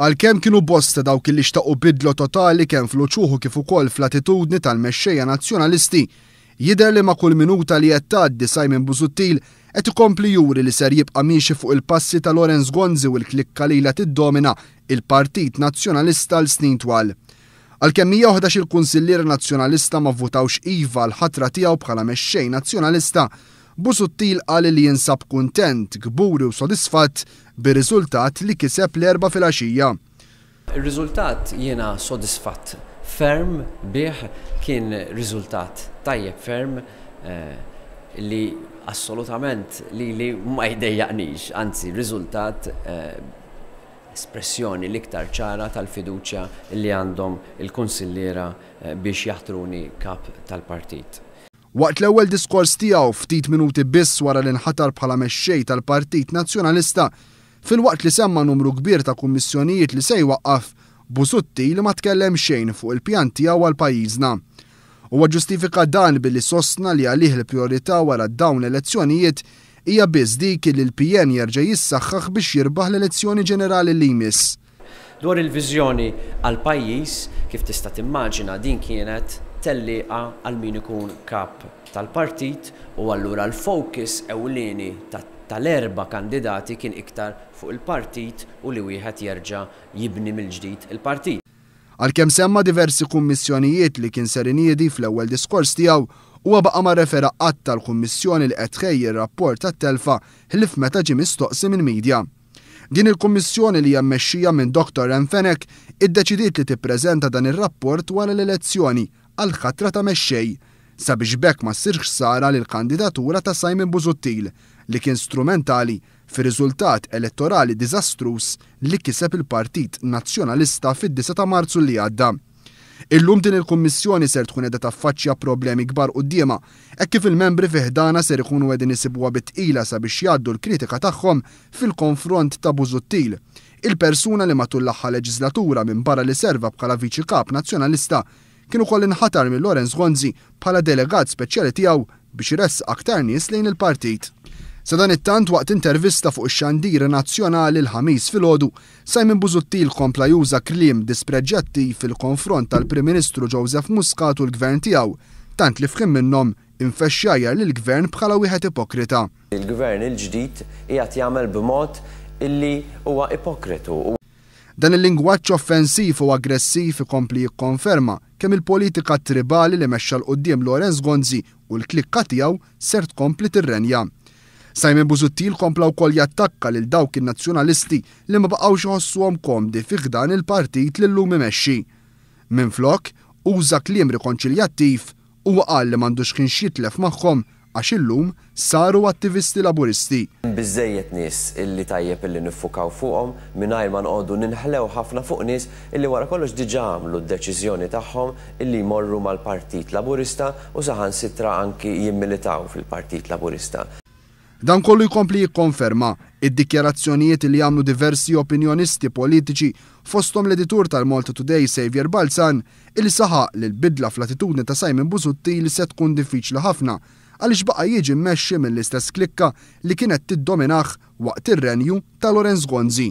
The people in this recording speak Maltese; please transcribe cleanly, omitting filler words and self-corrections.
Għalkemm kienu bosta dawk li xtaqu bidla totali kemm fl-uċuħ u kif ukoll fl-attitudni tal-mexxejja Nazzjonalisti, jidher li ma' kull minuta li qed tgħaddi Simon Busuttil qed ikompli juri li ser jibqa' miexi fuq il-passi ta' Lawrence Gonzi u l-klikka li ilha tiddomina il-Partit Nazzjonalista għal snin twal. Għalkemm 111 il-kunsilliera Nazzjonalista ma vvutawx iva għall-ħatra tiegħu bħala mexxej Nazzjonalista, Busuttil qal li jinsab kuntent, kburi u sodisfatt bir-riżultat li kiseb l-Erbgħa filgħaxija. Ir-riżultat jiena sodisfatt ferm bih, kien riżultat tajjeb ferm li assolutament lili ma jdejjaqnix, anzi riżultat espressjoni l-iktar ċara tal-fiduċja li għandhom il-kunsilliera biex jaħtruni kap tal-partit. Waqt l-ewwel diskors tiegħu ftit minuti biss wara li nħatar bħala mexxej tal-Partit Nazzjonalista, filwaqt li semma numru kbir ta' kummissjonijiet li se jwaqqaf, Busuttil ma tkellem xejn fuq il-pjan tiegħu għal pajjiżna. Huwa ġġustifika dan billi sostna li għalih il-prijorità wara dawn l-elezzjonijiet hija biss dik li l-PN jerġa' jissaħħaħ biex jirbaħ l-elezzjoni ġenerali li jmiss. Dwar il-viżjoni għall-pajjiż, kif tista' timmaġina din kienet tellieqa għal min ikun kap tal-partit u allura l-focus ewlieni tal-erba' kandidati kien iktar fuq il-partit u li wieħed jerġa' jibni mill-ġdid il-partit. Għalkemm semma diversi kummissjonijiet li kien ser iniedi fl-ewwel diskors tiegħu, huwa baqa' ma rrefera qatt għall-kummissjoni li qed tħejji r-rapport tat-telfa ħlief meta ġie mistoqsi mill-media. Din il-Kummissjoni li hija mmexxija minn Dottor Ann Fenech iddeċidiet li tippreżenta dan ir-rapport wara l-elezzjoni għall-ħatra ta' mexxej, sabiex b'hekk ma ssirx ħsara lill-kandidatura ta' Simon Busuttil li kien strumentali fir-riżultat elettorali diżastruż li kiseb il-Partit Nazzjonalista fid-disgħa ta' Marzu li għadda. Illum din il-Kummissjoni ser tkun qiegħda taffaċċja problemi kbar quddiemha, hekk kif il-membri fi ħdanha ser ikunu qegħdin isibuha bi tqila sabiex jgħaddu l-kritika tagħhom fil-konfront ta' Busuttil, il-persuna li matul l-aħħar leġislatura minbarra li serva bħala Viċi Kap Nazzjonalista kien ukoll inħatar minn Lawrence Gonzi bħala delegat speċjali tiegħu biex iressaq aktar nies lejn il-partit. Sadanittant waqt intervista fuq ix-xandir nazzjonali l-Ħamis filgħodu, Simon Busuttil kompla juża kliem dispreġjattiv fil-konfront tal-Prim Ministru Joseph Muscat u l-Gvern tiegħu, tant li f'ħin minnhom infexx jgħajjar lill-Gvern bħala wieħed ipokrita. Il-Gvern il-ġdid qiegħed jagħmel b'mod illi huwa ipokritu. Dan il-lingwaġġ offensiv u aggressiv ikompli jikkonferma kemm il-politika tribali li mexxa 'l quddiem Lawrence Gonzi u l-klikka tiegħu ser tkompli tirrenja. Simon Busuttil kompla wkoll jattakka lil dawk in-Nazzjonalisti li ma baqgħux iħossuhom komdi fi ħdan il-partit li llum imexxi. Minflok, uża kliem rikonċiljattiv, huwa qal li m'għandux ħin x'jitlef magħhom għax illum saru attivisti Laburisti. Hemm biżżejjed nies illi tajjeb illi niffukaw fuqhom mingħajr ma noqogħdu ninħlew ħafna fuq nies illi wara kollox diġà għamlu d-deċiżjoni tagħhom illi jmorru mal-Partit Laburista u saħansitra anki jimmilitaw fil-Partit Laburista. Dan kollu jkompli jikkonferma id-dikjarazzjonijiet li għamlu diversi opinjonisti politiċi fosthom l-editur tal-Malta Today Saviour Balzan illi saħaq li l-bidla fl-attitudni ta' Simon Busuttil se tkun diffiċli ħafna għaliex baqa' jiġi mmexxi mill-istess klikka li kienet tiddominah waqt ir-renju ta' Lawrence Gonzi.